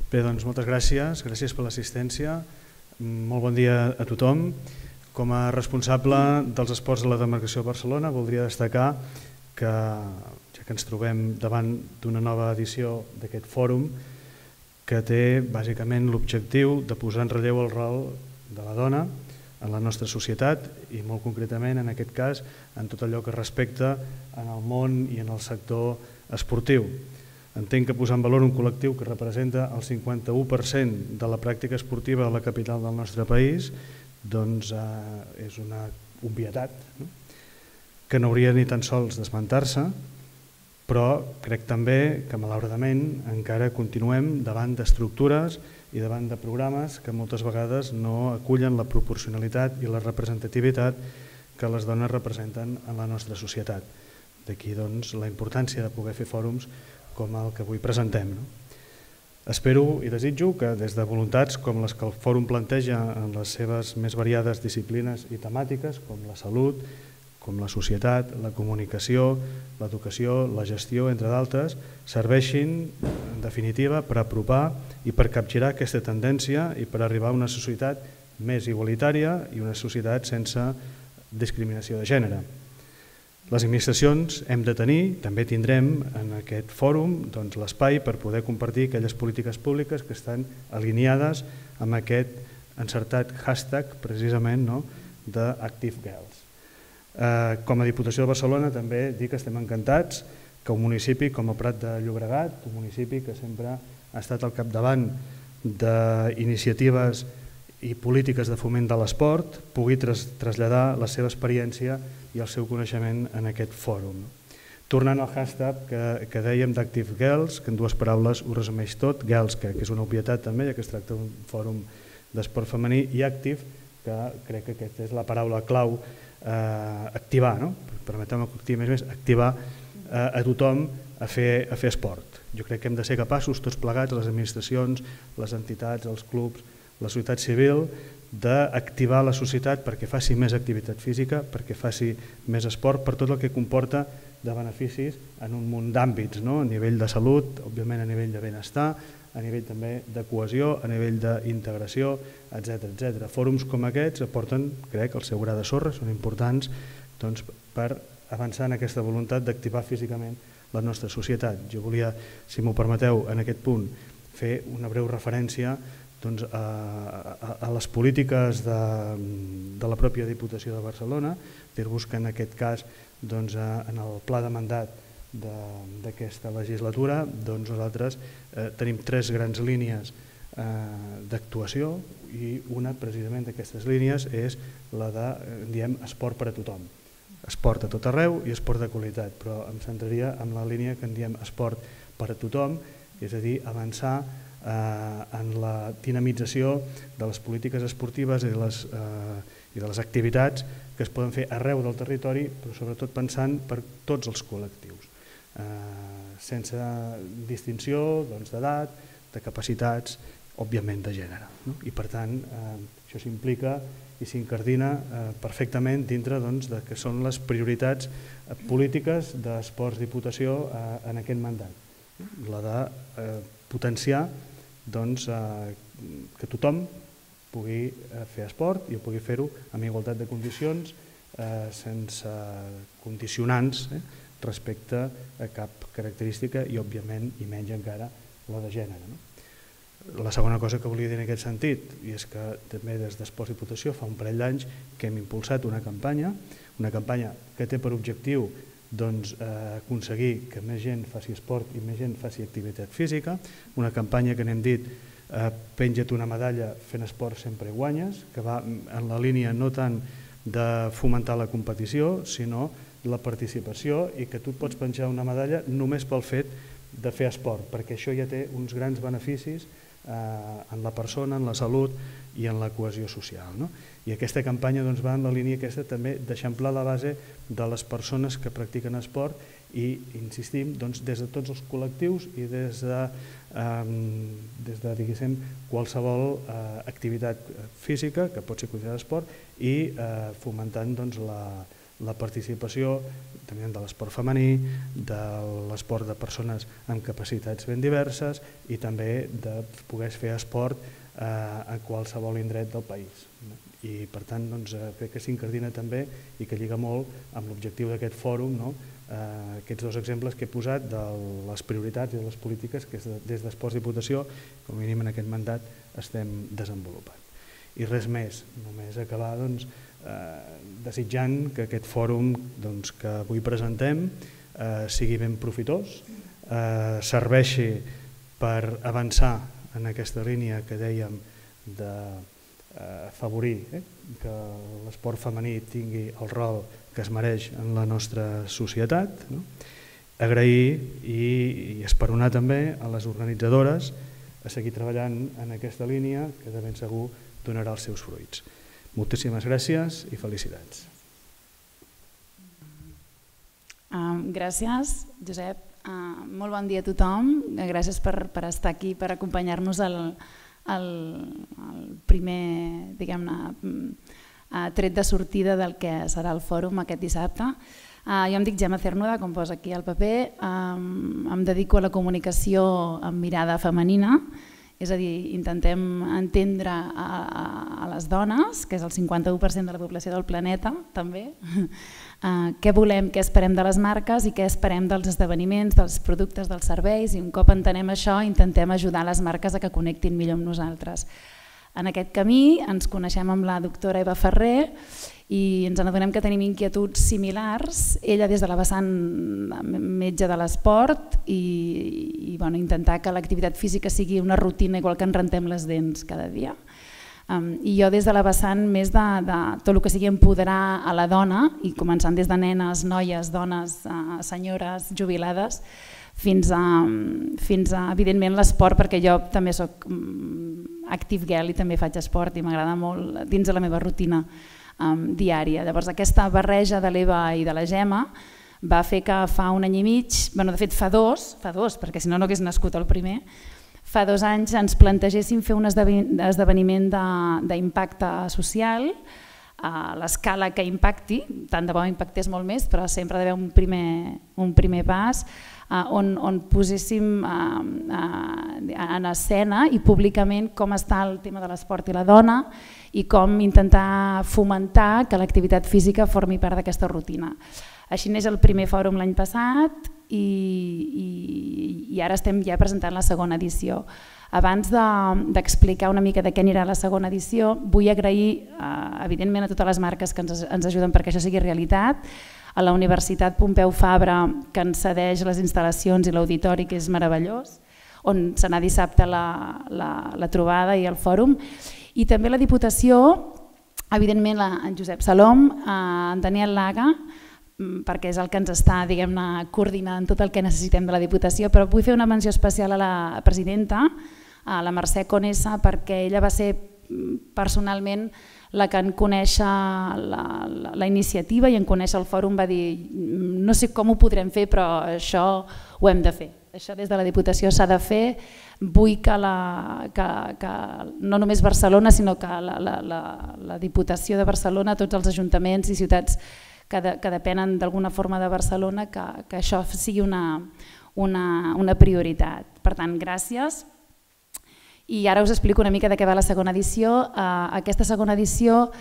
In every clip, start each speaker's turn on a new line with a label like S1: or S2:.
S1: Bé, doncs moltes gràcies per l'assistència. Molt bon dia a tothom. Com a responsable dels esports de la demarcació de Barcelona voldria destacar que, ja que ens trobem davant d'una nova edició d'aquest fòrum, que té bàsicament l'objectiu de posar en relleu el rol de la dona en la nostra societat i molt concretament en aquest cas en tot allò que respecta en el món i en el sector esportiu. Entenc que posar en valor un col·lectiu que representa el 51% de la pràctica esportiva a la capital del nostre país doncs és una obvietat que no hauria ni tan sols d'esmentar-se, però crec també que malauradament encara continuem davant d'estructures i davant de programes que moltes vegades no acullen la proporcionalitat i la representativitat que les dones representen en la nostra societat. D'aquí doncs la importància de poder fer fòrums com el que avui presentem. Espero i desitjo que des de voluntats com les que el fòrum planteja en les seves més variades disciplines i temàtiques, com la salut, com la societat, la comunicació, l'educació, la gestió, entre d'altres, serveixin, en definitiva, per apropar i per capgirar aquesta tendència i per arribar a una societat més igualitària i una societat sense discriminació de gènere. Les administracions hem de tenir, també tindrem en aquest fòrum l'espai per poder compartir aquelles polítiques públiques que estan alineades amb aquest encertat hashtag precisament d'ActiveGirls. Com a Diputació de Barcelona també dic que estem encantats que un municipi com el Prat de Llobregat, un municipi que sempre ha estat al capdavant d'iniciatives i polítiques de foment de l'esport, pugui traslladar la seva experiència i el seu coneixement en aquest fòrum. Tornant al hashtag que dèiem d'ActiveGirls, que en dues paraules ho resumeix tot, Girls, que és una obvietat també, ja que es tracta d'un fòrum d'esport femení, i Active, que crec que aquesta és la paraula clau, activar, permeteu-me que activi més, activar a tothom a fer esport. Jo crec que hem de ser capaços, tots plegats, les administracions, les entitats, els clubs, la societat civil, d'activar la societat perquè faci més activitat física, perquè faci més esport, per tot el que comporta de beneficis en un munt d'àmbits, a nivell de salut, òbviament a nivell de benestar, a nivell també de cohesió, a nivell d'integració, etc. Fòrums com aquests aporten, crec, el seu gra de sorra, són importants per avançar en aquesta voluntat d'activar físicament la nostra societat. Jo volia, si m'ho permeteu, en aquest punt, fer una breu referència a les polítiques de la pròpia Diputació de Barcelona, dir-vos que en aquest cas, en el pla de mandat d'aquesta legislatura, nosaltres tenim tres grans línies d'actuació i una precisament d'aquestes línies és la de, diem, esport per a tothom. Esport a tot arreu i esport de qualitat, però em centraria en la línia que en diem esport per a tothom, és a dir, avançar en la dinamització de les polítiques esportives i de les activitats que es poden fer arreu del territori, però sobretot pensant per tots els col·lectius, sense distinció d'edat, de capacitats, òbviament de gènere. I per tant, això s'implica i s'incardina perfectament dintre de que són les prioritats polítiques d'Esports Diputació en aquest mandat. La de potenciar que tothom pugui fer esport i pugui fer-ho amb igualtat de condicions, sense condicionants respecte a cap característica i, òbviament, i menys encara, la de gènere. La segona cosa que volia dir en aquest sentit, i és que també des d'Esports Diputació fa un parell d'anys que hem impulsat una campanya que té per objectiu aconseguir que més gent faci esport i més gent faci activitat física, una campanya que n'hem dit penja't una medalla fent esport sempre guanyes, que va en la línia no tant de fomentar la competició, sinó la participació i que tu et pots penjar una medalla només pel fet de fer esport, perquè això ja té uns grans beneficis en la persona, en la salut i en la cohesió social. I aquesta campanya va en la línia aquesta també d'eixamplar la base de les persones que practiquen esport i, insistim, des de tots els col·lectius i des de diguéssim, qualsevol activitat física que pot ser considerada esport i fomentant la participació també de l'esport femení, de l'esport de persones amb capacitats ben diverses i també de poder fer esport a qualsevol indret del país. I per tant crec que s'incardina també i que lliga molt amb l'objectiu d'aquest fòrum, aquests dos exemples que he posat de les prioritats i de les polítiques que des d'Esports Diputació, com a mínim en aquest mandat, estem desenvolupant. I res més, només acabar desitjant que aquest fòrum que avui presentem sigui ben profitós, serveixi per avançar en aquesta línia que dèiem d'afavorir que l'esport femení tingui el rol que es mereix en la nostra societat, agrair i esperonar també a les organitzadores a seguir treballant en aquesta línia que de ben segur donarà els seus fruits. Moltíssimes gràcies i felicitats.
S2: Gràcies, Josep. Molt bon dia a tothom. Gràcies per estar aquí, per acompanyar-nos al primer, diguem-ne, tret de sortida del que serà el fòrum aquest dissabte. Jo em dic Gemma Cernuda, com posa aquí al paper. Em dedico a la comunicació amb mirada femenina, és a dir, intentem entendre a les dones, que és el 51% de la població del planeta, també, què volem, què esperem de les marques i què esperem dels esdeveniments, dels productes, dels serveis, i un cop entenem això intentem ajudar les marques a que connectin millor amb nosaltres. En aquest camí ens coneixem amb la doctora Eva Ferrer i ens adonem que tenim inquietuds similars, ella des de la vessant metge de l'esport i intentar que l'activitat física sigui una rutina igual que ens rentem les dents cada dia. I jo des de la vessant més de tot el que sigui empoderar a la dona, i començant des de nenes, noies, dones, senyores, jubilades, fins a evidentment l'esport, perquè jo també soc active girl i també faig esport i m'agrada molt dins de la meva rutina diària. Llavors aquesta barreja de l'Eva i de la Gemma va fer que fa un any i mig, de fet fa dos, perquè si no no hagués nascut el primer, fa 2 anys ens plantegéssim fer un esdeveniment d'impacte social a l'escala que impacti, tant de bo impactés molt més, però sempre ha d'haver un primer pas, on poséssim en escena i públicament com està el tema de l'esport i la dona i com intentar fomentar que l'activitat física formi part d'aquesta rutina. Així neix el primer fòrum l'any passat i ara estem ja presentant la segona edició. Abans d'explicar una mica de què anirà la segona edició, vull agrair evidentment a totes les marques que ens ajuden perquè això sigui realitat, a la Universitat Pompeu Fabra, que ens cedeix les instal·lacions i l'auditori, que és meravellós, on serà dissabte la trobada i el fòrum, i també la Diputació, evidentment en Josep Salom, en Daniel Laga, perquè és el que ens està coordinant tot el que necessitem de la Diputació, però vull fer una menció especial a la presidenta, a la Mercè Conesa, perquè ella va ser personalment la que en conèixer la iniciativa i en conèixer el fòrum va dir no sé com ho podrem fer però això ho hem de fer, això des de la Diputació s'ha de fer, vull que no només Barcelona sinó que la Diputació de Barcelona, tots els ajuntaments i ciutats que depenen d'alguna forma de Barcelona, que això sigui una prioritat. Per tant, gràcies. I ara us explico una mica de què va la segona edició. Aquesta segona edició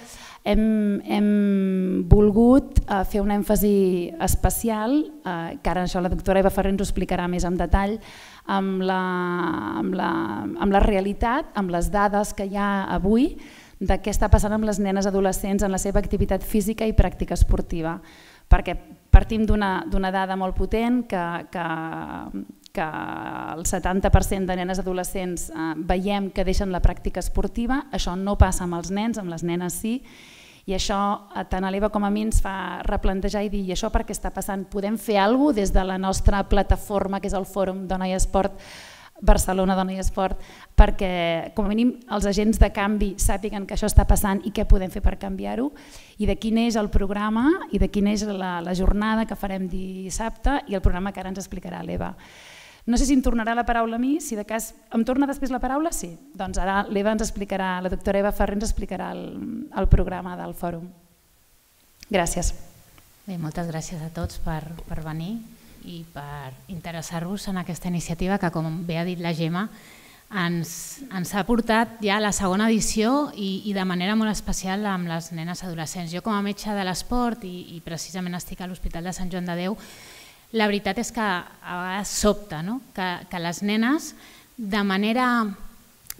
S2: hem volgut fer un èmfasi especial, que ara això la doctora Eva Ferrer ens ho explicarà més en detall, amb la realitat, amb les dades que hi ha avui, de què està passant amb les nenes adolescents en la seva activitat física i pràctica esportiva. Perquè partim d'una dada molt potent que el 70% de nenes adolescents veiem que deixen la pràctica esportiva, això no passa amb els nens, amb les nenes sí, i això tant a l'Eva com a mi ens fa replantejar i dir i això per què està passant? Podem fer alguna cosa des de la nostra plataforma que és el Fòrum Dona i Esport, Barcelona Dona i Esport, perquè com a mínim els agents de canvi sàpiguen que això està passant i què podem fer per canviar-ho, i de quin és el programa i de quina és la jornada que farem dissabte i el programa que ara ens explicarà l'Eva. No sé si em tornarà la paraula a mi, si de cas em torna després la paraula, sí. Doncs ara l'Eva ens explicarà, la doctora Eva Ferrer ens explicarà el programa del fòrum. Gràcies.
S3: Bé, moltes gràcies a tots per venir i per interessar-vos en aquesta iniciativa que, com bé ha dit la Gemma, ens ha portat ja a la segona edició i de manera molt especial amb les nenes adolescents. Jo com a metge de l'esport i precisament estic a l'Hospital de Sant Joan de Déu, la veritat és que a vegades sobta que les nenes, de manera,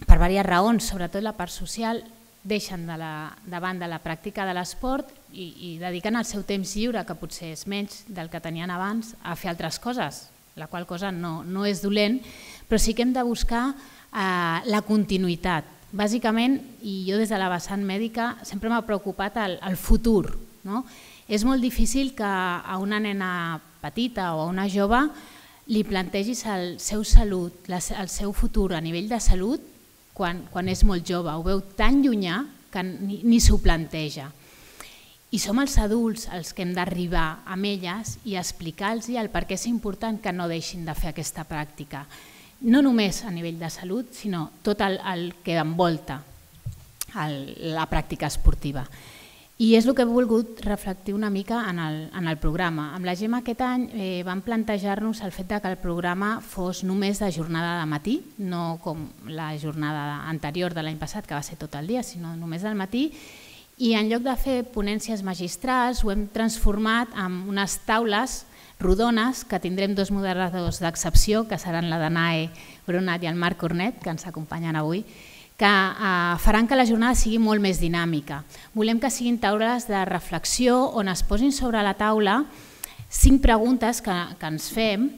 S3: per diverses raons, sobretot la part social, deixen de banda la pràctica de l'esport i dediquen el seu temps lliure, que potser és menys del que tenien abans, a fer altres coses, la qual cosa no és dolent, però sí que hem de buscar la continuïtat. Bàsicament, i jo des de la vessant mèdica sempre m'ha preocupat el futur. És molt difícil que a una nena petita o a una jove li plantegis el seu salut, el seu futur a nivell de salut quan és molt jove. Ho veu tan llunyà que ni s'ho planteja. I som els adults els que hem d'arribar amb elles i explicar-los el per què és important que no deixin de fer aquesta pràctica. No només a nivell de salut, sinó tot el que envolta la pràctica esportiva. I és el que he volgut reflectir una mica en el programa. Amb la Gemma aquest any vam plantejar-nos el fet que el programa fos només de jornada de matí, no com la jornada anterior de l'any passat, que va ser tot el dia, sinó només del matí, i en lloc de fer ponències magistrals ho hem transformat en unes taules rodones que tindrem dos moderadors d'excepció, que seran la Danae Brunat i el Marc Cornet, que ens acompanyen avui, que faran que la jornada sigui molt més dinàmica. Volem que siguin taules de reflexió on es posin sobre la taula 5 preguntes que ens fem,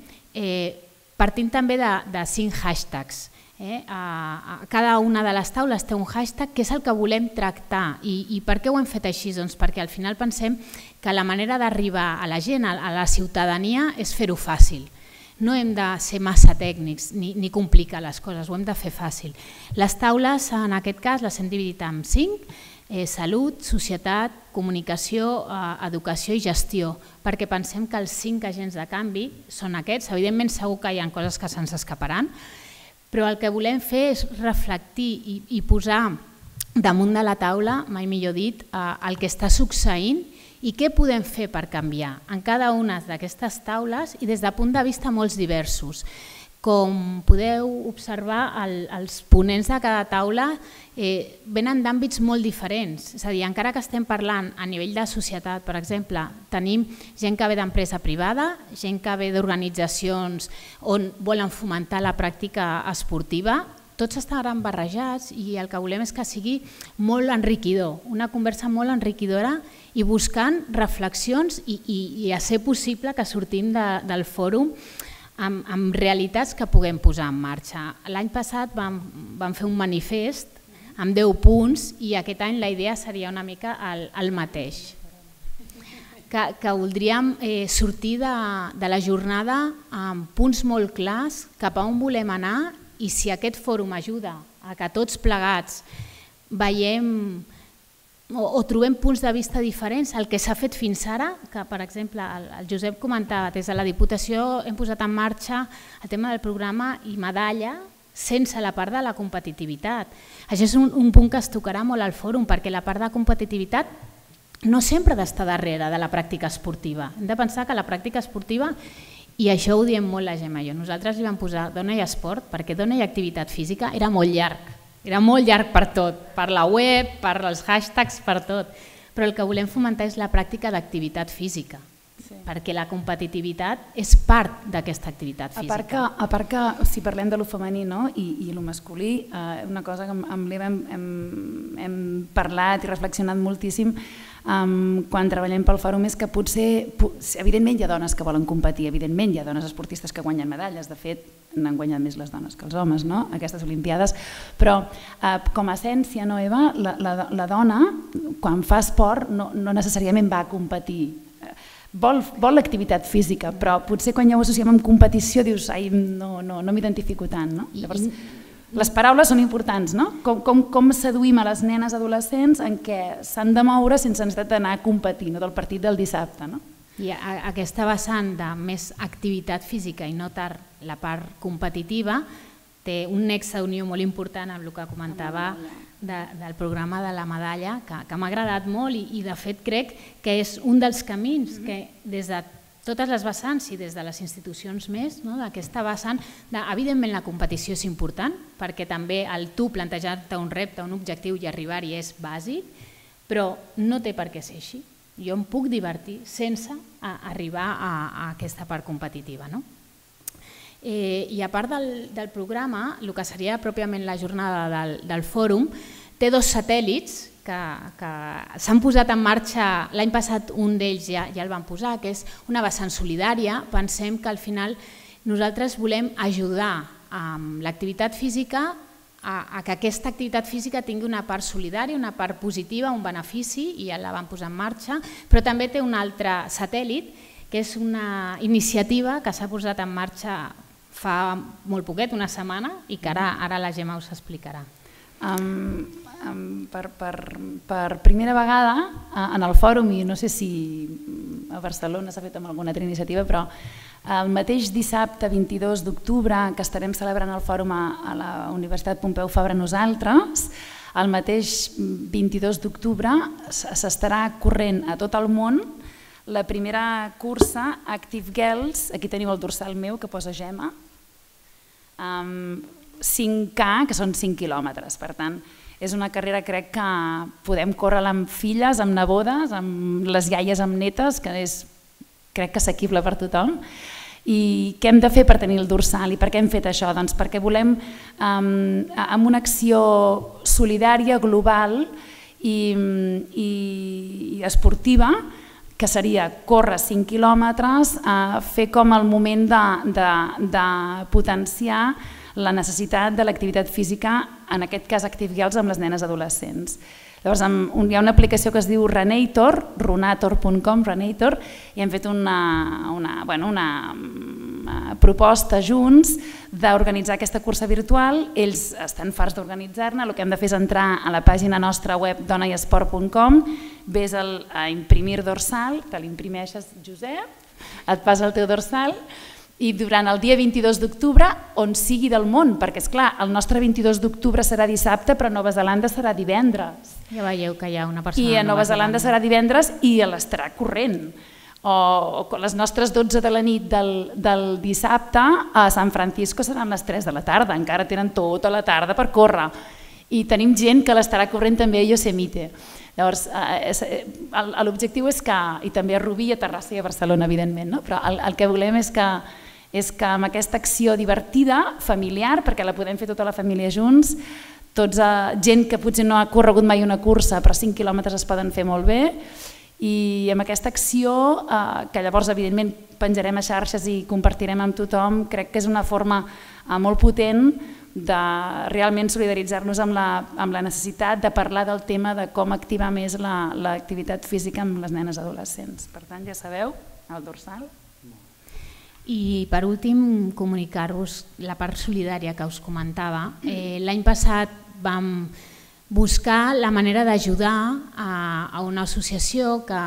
S3: partint també de 5 hashtags. Cada una de les taules té un hashtag que és el que volem tractar. I per què ho hem fet així? Doncs perquè al final pensem que la manera d'arribar a la gent, a la ciutadania, és fer-ho fàcil. No hem de ser massa tècnics ni complicar les coses, ho hem de fer fàcil. Les taules, en aquest cas, les hem dividit en 5, salut, societat, comunicació, educació i gestió, perquè pensem que els 5 agents de canvi són aquests. Evidentment, segur que hi ha coses que se'ns escaparan, però el que volem fer és reflectir i posar damunt de la taula, mai millor dit, el que està succeint i què podem fer per canviar en cada una d'aquestes taules i des de punts de vista molt diversos. Com podeu observar, els ponents de cada taula venen d'àmbits molt diferents. És a dir, encara que estem parlant a nivell de societat, per exemple, tenim gent que ve d'empresa privada, gent que ve d'organitzacions on volen fomentar la pràctica esportiva, tots estaran barrejats i el que volem és que sigui molt enriquidor, una conversa molt enriquidora i buscant reflexions i a ser possible que sortim del fòrum amb realitats que puguem posar en marxa. L'any passat vam fer un manifest amb 10 punts i aquest any la idea seria una mica el mateix. Que voldríem sortir de la jornada amb punts molt clars cap a on volem anar i si aquest fòrum ajuda a que tots plegats veiem o trobem punts de vista diferents, el que s'ha fet fins ara, que per exemple el Josep comentava, des de la Diputació hem posat en marxa el tema del programa i medalla sense la part de la competitivitat. Això és un punt que es tocarà molt al fòrum perquè la part de competitivitat no sempre ha d'estar darrere de la pràctica esportiva. Hem de pensar que la pràctica esportiva, i això ho diem molt la Gemma i jo, nosaltres li vam posar dona i esport perquè dona i activitat física era molt llarg. Era molt llarg per tot, per la web, per els hashtags, per tot. Però el que volem fomentar és la pràctica d'activitat física, perquè la competitivitat és part d'aquesta activitat física.
S2: A part que, si parlem de lo femení i lo masculí, una cosa que amb l'Eva hem parlat i reflexionat moltíssim quan treballem pel fòrum és que potser, evidentment hi ha dones que volen competir, evidentment hi ha dones esportistes que guanyen medalles, de fet n'han guanyat més les dones que els homes, aquestes olimpiades, però com a essència, Eva, la dona quan fa esport no necessàriament va a competir, vol l'activitat física, però potser quan ja ho associem amb competició dius ai, no m'identifico tant. Llavors, les paraules són importants, no? Com seduïm a les nenes adolescents en què s'han de moure sense necessitat d'anar a competir, del partit del dissabte.
S3: I aquesta vessant de més activitat física i no tant la part competitiva té un nexe d'unió molt important amb el que comentava del programa de la medalla, que m'ha agradat molt i de fet crec que és un dels camins que des de totes les vessants i des de les institucions més, d'aquesta vessant, evidentment la competició és important perquè també el tu plantejar-te un repte, un objectiu i arribar-hi és bàsic, però no té per què ser així. Jo em puc divertir sense arribar a aquesta part competitiva. I a part del programa, el que seria pròpiament la jornada del fòrum, té 2 satèl·lits que s'han posat en marxa. L'any passat un d'ells ja el van posar, que és una vessant solidària. Pensem que al final nosaltres volem ajudar amb l'activitat física a que aquesta activitat física tingui una part solidària, una part positiva, un benefici, i ja la vam posar en marxa, però també té un altre satèl·lit, que és una iniciativa que s'ha posat en marxa fa molt poquet, una setmana, i que ara la Gemma us explicarà.
S2: Per primera vegada en el fòrum, i no sé si a Barcelona s'ha fet amb alguna altra iniciativa, però el mateix dissabte 22 d'octubre, que estarem celebrant el fòrum a la Universitat Pompeu Fabra nosaltres, el mateix 22 d'octubre s'estarà corrent a tot el món la primera cursa Active Girls, aquí teniu el dorsal meu que posa Gemma, 5K, que són 5 quilòmetres. Per tant, és una carrera, crec que podem córrer-la amb filles, amb nebodes, amb les iaies, amb netes, que és, crec que assequible per tothom. I què hem de fer per tenir el dorsal? I per què hem fet això? Doncs perquè volem, amb una acció solidària, global i esportiva, que seria córrer 5 quilòmetres, fer com el moment de potenciar la necessitat de l'activitat física, en aquest cas Active Girls, amb les nenes adolescents. Llavors hi ha una aplicació que es diu Runator, runator.com, Runator, i hem fet una proposta junts d'organitzar aquesta cursa virtual. Ells estan farts d'organitzar-ne, el que hem de fer és entrar a la pàgina nostra web donaiesport.com, ves a imprimir dorsal, te l'imprimeixes, Josep, et passa el teu dorsal, i durant el dia 22 d'octubre, on sigui del món, perquè, esclar, el nostre 22 d'octubre serà dissabte, però a Nova Zelanda serà divendres.
S3: Ja veieu que hi ha una persona
S2: I a Nova Zelanda serà divendres i l'estarà corrent. O les nostres 12 de la nit del dissabte a San Francisco seran les 3 de la tarda, encara tenen tota la tarda per córrer. I tenim gent que l'estarà corrent també a Yosemite. Llavors, l'objectiu és que, i també a Rubí, a Terrassa i a Barcelona, evidentment, però el que volem és que amb aquesta acció divertida, familiar, perquè la podem fer tota la família junts, gent que potser no ha corregut mai una cursa, però 5 quilòmetres es poden fer molt bé, i amb aquesta acció, que llavors evidentment penjarem a xarxes i compartirem amb tothom, crec que és una forma molt potent de realment solidaritzar-nos amb la necessitat de parlar del tema de com activar més l'activitat física amb les nenes adolescents. Per tant, ja sabeu, el dorsal.
S3: I per últim, comunicar-vos la part solidària que us comentava. L'any passat vam buscar la manera d'ajudar a una associació que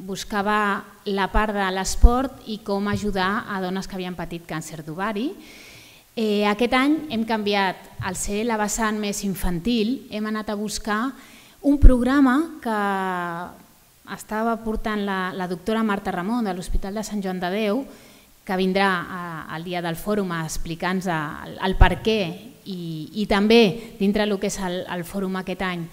S3: buscava la part de l'esport i com ajudar a dones que havien patit càncer d'ovari. Aquest any hem canviat, al ser la vessant més infantil, hem anat a buscar un programa que estava portant la doctora Marta Ramon de l'Hospital de Sant Joan de Déu, que vindrà al dia del fòrum a explicar-nos el per què i també dintre del que és el fòrum aquest any.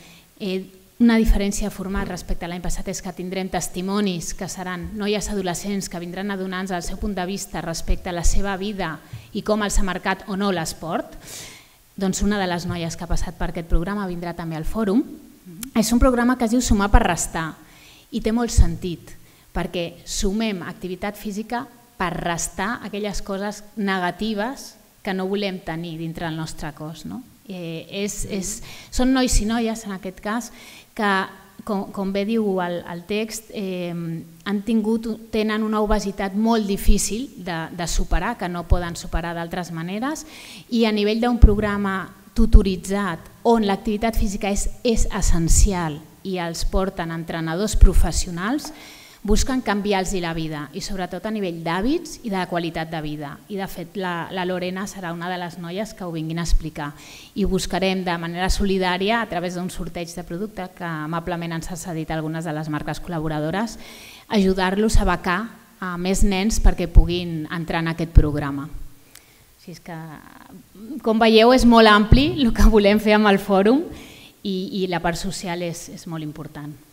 S3: Una diferència de format respecte a l'any passat és que tindrem testimonis que seran noies adolescents que vindran a donar-nos el seu punt de vista respecte a la seva vida i com els ha marcat o no l'esport. Doncs una de les noies que ha passat per aquest programa vindrà també al fòrum. És un programa que es diu Sumar per restar i té molt sentit perquè sumem activitat física per restar aquelles coses negatives que no volem tenir dintre el nostre cos. Són nois i noies, en aquest cas, que, com bé diu el text, tenen una obesitat molt difícil de superar, que no poden superar d'altres maneres, i a nivell d'un programa tutoritzat on l'activitat física és essencial i els porten entrenadors professionals, busquen canviar-los la vida i sobretot a nivell d'hàbits i de qualitat de vida. I de fet la Lorena serà una de les noies que ho vinguin a explicar i buscarem de manera solidària a través d'un sorteig de producte que amablement ens ha cedit algunes de les marques col·laboradores, ajudar-los a becar a més nens perquè puguin entrar en aquest programa. Així és que, com veieu, és molt ampli el que volem fer amb el fòrum i la part social és molt important.